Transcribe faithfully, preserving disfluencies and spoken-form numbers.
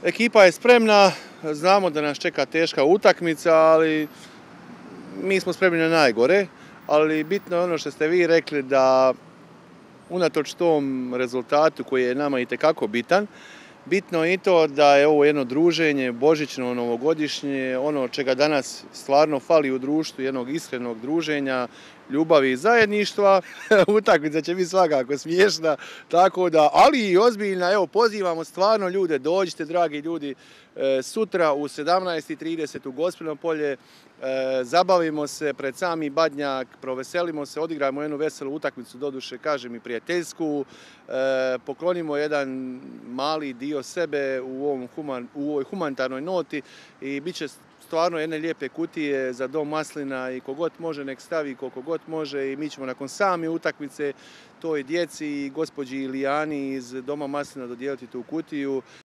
Ekipa je spremna, znamo da nas čeka teška utakmica, ali mi smo spremni na najgore, ali bitno je ono što ste vi rekli da unatoč tom rezultatu koji je nama itekako bitan, bitno je i to da je ovo jedno druženje, božićno, novogodišnje, ono čega danas stvarno fali u društvu, jednog iskrenog druženja, ljubavi i zajedništva. Utakmica će biti svakako smiješna, tako da, ali i ozbiljna. Evo, pozivamo stvarno ljude, dođite dragi ljudi, sutra u sedamnaest i trideset u Gospino polje, zabavimo se pred sami Badnjak, proveselimo se, odigrajmo jednu veselu utakmicu, doduše kažem i prijateljsku, poklonimo jedan mali dio sebe u, ovom human, u ovoj humanitarnoj noti i bit će stvarno jedne lijepe kutije za dom maslina i kogod može nek stavi koliko god može i mi ćemo nakon same utakmice toj djeci i gospođi Ilijani iz doma maslina dodijeliti tu kutiju